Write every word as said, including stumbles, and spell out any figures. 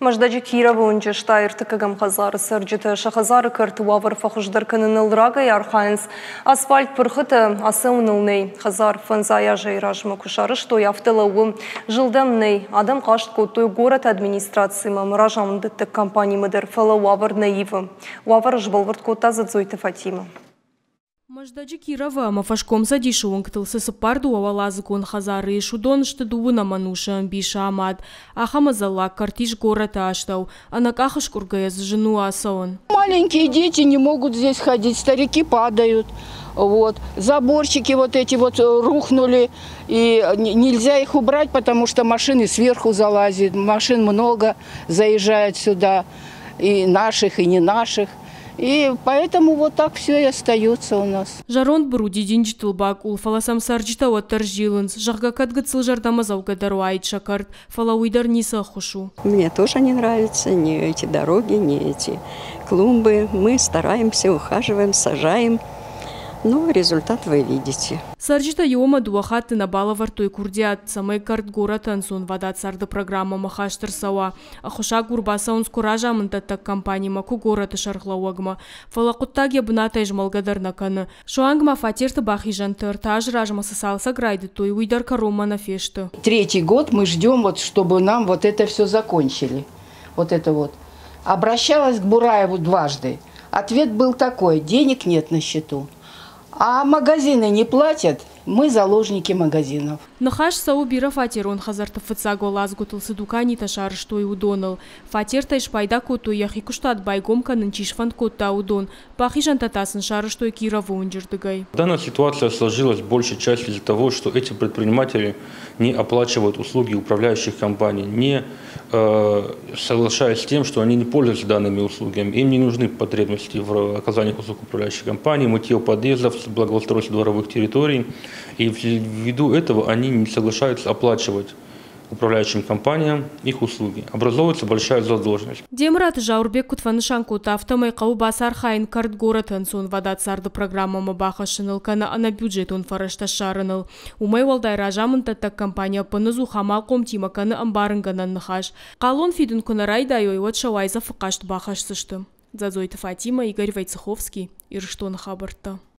Мӕздӕджы Кировы уынджы стай ӕртыккӕгӕм хӕдзары цӕрджытӕ сӕ хӕдзары кӕрты уавӕр фӕхуыздӕр кӕныныл рагӕй архайынц. Асфальт пырхытӕ, ацӕуыныл нӕй. Хӕдзар фӕндзай азӕй размӕ куы сарӕзтой, афтӕ лӕууы. Зылд ӕм нӕй. Адӕм хъаст кодтой горӕты администрацимӕ ӕмӕ разамынддӕттӕг компанимӕ дӕр, фӕлӕ уавӕр нӕ ивы. Уавӕр сбӕлвырд кодта Дзӕдзойты Фатимӕ. Мӕздӕджы Кировы ӕмӕ Фӕскомцӕдисы уынгтыл цы цыппар дыууӕуӕладзыгон хӕдзары ис, уыдон сты дыууынӕм ӕнусы ӕмбисы амад. Ахӕм ӕдзӕллаг кӕрт ис горӕты астӕу. Ӕнӕкъах скъуыргӕйӕ дзы зын у ацӕуын. Маленькие дети не могут здесь ходить, старики падают. Вот. Заборчики вот эти вот рухнули, и нельзя их убрать, потому что машины сверху залазят, машин много заезжают сюда, и наших, и не наших. И поэтому вот так все и остается у нас. Зӕронд быру дидинджытыл бакъул, фӕлӕ сӕм цӕрджытӕ уӕддӕр зилынц. Зӕгъгӕ, кӕд гыццыл зӕрдӕмӕдзӕугӕдӕр уаид сӕ кӕрт, фӕлӕ уый дӕр ницы ӕххуыс у. Мне тоже не нравятся ни эти дороги, ни эти клумбы. Мы стараемся, ухаживаем, сажаем. Ну, результат вы видите. Цӕрджытӕ иу ӕмӕ дыууӕ хатты нӕ балӕвӕрдтой курдиат, цӕмӕй кӕрт горӕты ӕнцонвадат царды программӕмӕ хаст ӕрцӕуа. Ӕххуысагур бацӕуынц куы разамынддӕттӕг компанимӕ, куы горӕты сӕргълӕууӕгмӕ. Фӕлӕ хъуыддаг йӕ бынатӕй змӕлгӕ дӕр нӕ кӕны. Суанг ма фатерты бахизӕнты ӕртӕ азы размӕ цы цалцӕг райдыдтой, уый дӕр кӕронмӕ нӕ фесты. Третий год мы ждем, вот, чтобы нам вот это все закончили. Вот это вот. Обращалась к Бураеву дважды. Ответ был такой: денег нет на счету. А магазины не платят, мы заложники магазинов. Ныхас цӕуы бирӕфатерон хӕдзӕртты фыццаг уӕладзгуытыл цы дуканитӕ сарӕзтой, уыдоныл. Фатертӕй спайда кодтой, йӕхи куыстуат байгом кӕнын чи сфӕнд кодта, уыдон. Бахизӕнтӕ та сын сарӕзтой Кировы уынджы рдыгӕй. Данная ситуация сложилась в большей части из-за того, что эти предприниматели не оплачивают услуги управляющих компаний, не э, соглашаясь с тем, что они не пользуются данными услугами. Им не нужны потребности в оказании услуг управляющих компаний, мытье подъездов, благоустройство дворовых территорий. И ввиду этого они не соглашаются оплачивать управляющим компаниям их услуги. Образовывается большая задолженность. Демыраты Зауырбег куыд фӕнысан кодта, афтӕмӕй хъӕуы бацархайын кӕрт горӕты ӕнцонвадат царды программӕмӕ бахӕссыныл кӕнӕ ӕнӕбюджетон фӕрӕзтӕ ссарыныл. Уымӕй уӕлдай разамынддӕттӕг компани ӕппынӕдзух амалхъомтимӕ кӕны ӕмбарынгӕнӕн ныхас. Хъалон фидын куы нӕ райдайой, уӕд сӕ уайдзӕфы хъаст бахӕсдзысты. Дзадзойты Фатимӕ, Игорь Войцеховский, Ирыстоны хабӕрттӕ.